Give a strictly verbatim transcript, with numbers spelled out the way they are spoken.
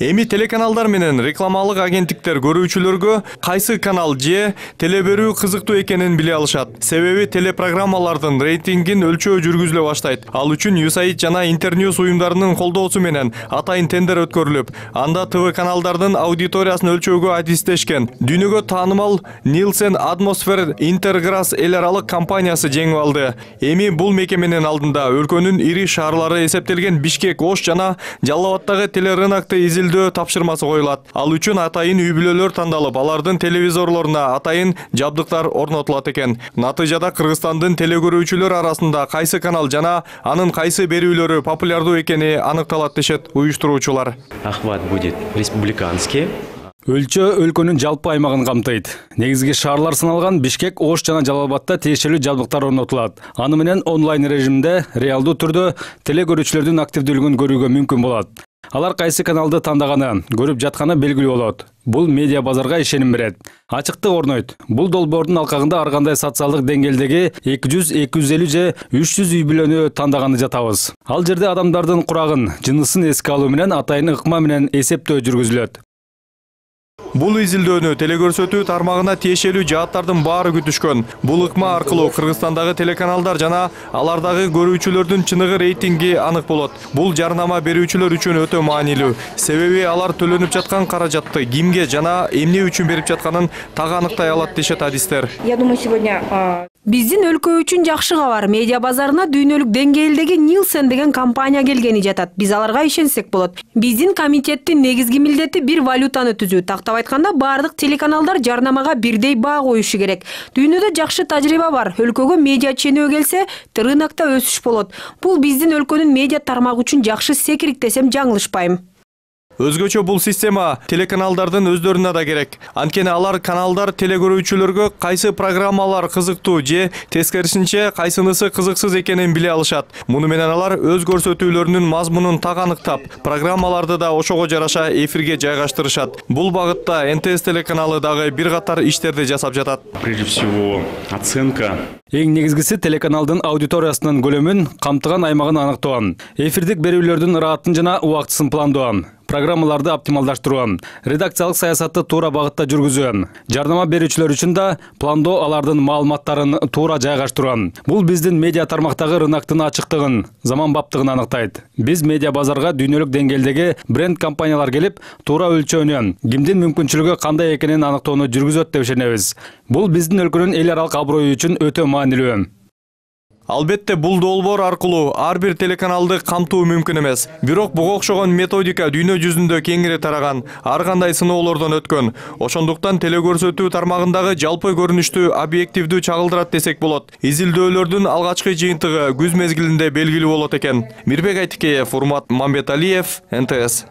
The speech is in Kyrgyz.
Эми телеканалдар менен рекламалык агенттиктер көрүүчүлөргө кайсы канал же теле берүү кызыктуу экенин биле алышат. Себеби телепрограммалардын рейтингин өлчөө жүргүзүлө баштайт. Ал үчүн ю эс эй жана Интерньюз уюмдарынын колдоосу менен атайын тендер өткөрүлүп, анда ТВ каналдардын аудиториясын өлчөөгө адистешкен. Дүйнөгө таанымал Nielsen Atmosphere Intergrass эл аралык компаниясы жеңип алды. Эми бул мекеменин алдында өлкөнүн ири шаарлары эсептелген Бишкек, Ош жана Жалал абаддагы телерынокты изилдөө тапшырмасы коюлат. Ал үчүн атайын үй-бүлөлөр тандалып, алардын телевизорлоруна атайын жабдыктар орнотулат экен. Натыйжада Кыргызстандын телекөрүүчүлөр арасында кайсы канал жана анын кайсы берүүлөрү популярдуу экени аныкталат дешет уюштуруучулар. Охват будет республиканский. Өлчөө өлкөнүн жалпы аймагын камтыйт. Негизги шаарлар саналган Бишкек, Ош жана Жалал абадда тиешелүү жабдыктар орнотулат. Аны менен онлайн режимде реалдуу түрдө телекөрүүчүлөрдүн активдүүлүгүн көрүүгө мүмкүн болот. Алар кайсы каналды тандаганы, көрүп жатканы белгилүү болот. Бул медиа базарга ишеним берет. Ачыктык орнойт. Бул долбоордун алкагында ар кандай социалдык деңгээлдеги эки жүз, эки жүз элүү же үч жүз үй бүлөнү тандаганы жатабыз. Ал жерде адамдардын курагын, жынысын эске алуу менен атайын ыкма менен эсептөө жүргүзүлөт. Бул изилдөөнү телекөрсөтүү тармагына тиешелүү жааттардын баары күтүшкөн. Бул ыкма аркылуу Кыргызстандагы телеканалдар жана алардагы көрүүчүлөрдүн чыныгы рейтинги анык болот. Бул жарнама берүүчүлөр үчүн өтө маанилүү. Себеби алар төлөнүп жаткан каражатты кимге жана эмне үчүн берип жатканын так аныктай алат дешет адистер. Я думаю, сегодня Биздин өлкө үчүн жакшы кабар. Медиа базарына дүйнөлүк деңгээлдеги Nielsen деген компания келгени жатат. Биз аларга ишенсек болот. Биздин комитеттин негизги милдети бир валютаны түзүү. Тактап айтканда, бардык телеканалдар жарнамага бирдей баа коюшу керек. Дүйнөдө жакшы тажрыйба бар. Өлкөгө медиа ченөө келсе, рынокто өсүш болот. Бул биздин өлкөнүн медиа тармагы үчүн жакшы секирик десем жаңылышпайм. Өзгөчө бул система телеканалдардын өздөрүнө да керек. Анткени алар каналдар телекөрүүчүлөргө кайсы программалар кызыктуу же тескерисинче кайсынысы кызыксыз экенин биле алышат. Муну менен алар өз көрсөтүүлөрүнүн мазмунун так аныктап, программаларды да ошого жараша эфирге жайгаштырышат. Бул багытта эн тэ эс телеканалы дагы бир катар иштерди жасап жатат. Прежде всего, оценка. Эң негизгиси телеканалдын аудиториясынын көлөмүн, камтыган аймагын аныктоо. Эфирдик берүүлөрдүн ыраатын жана убактысын пландоо. Программаларды оптималдаштыруу, редакциялык саясатты туура багытта жүргүзүү, жарнама берүүчүлөр үчүн да пландоо, алардын маалыматтарын туура жайгаштыруу. Бул биздин медиа тармактагы рыноктун ачыктыгын, заманбаптыгын аныктайт. Биз медиа базарга дүйнөлүк деңгээлдеги бренд компаниялар келип, туура өлчөөнү, кимдин мүмкүнчүлүгү кандай экенин аныктоону жүргүзөт деп ишенебиз. Бул биздин өлкөнүн эл аралык аброю үчүн өтө маанилүү. Албетте бул долбоор аркылуу ар бир телеканалды камтуу мүмкүн эмес. Бирок буга окшогон методика дүйнө жүзүндө кеңири тараган, ар кандай сыноолордон өткөн. Ошондуктан телекөрсөтүү тармагындагы жалпы көрүнүштү объективдүү чагылдырат десек болот. Изилдөөлөрдүн алгачкы жыйынтыгы күз мезгилинде белгилүү болот экен. Мирбек Айтикеев, Урмат Мамбеталиев, эн тэ эс.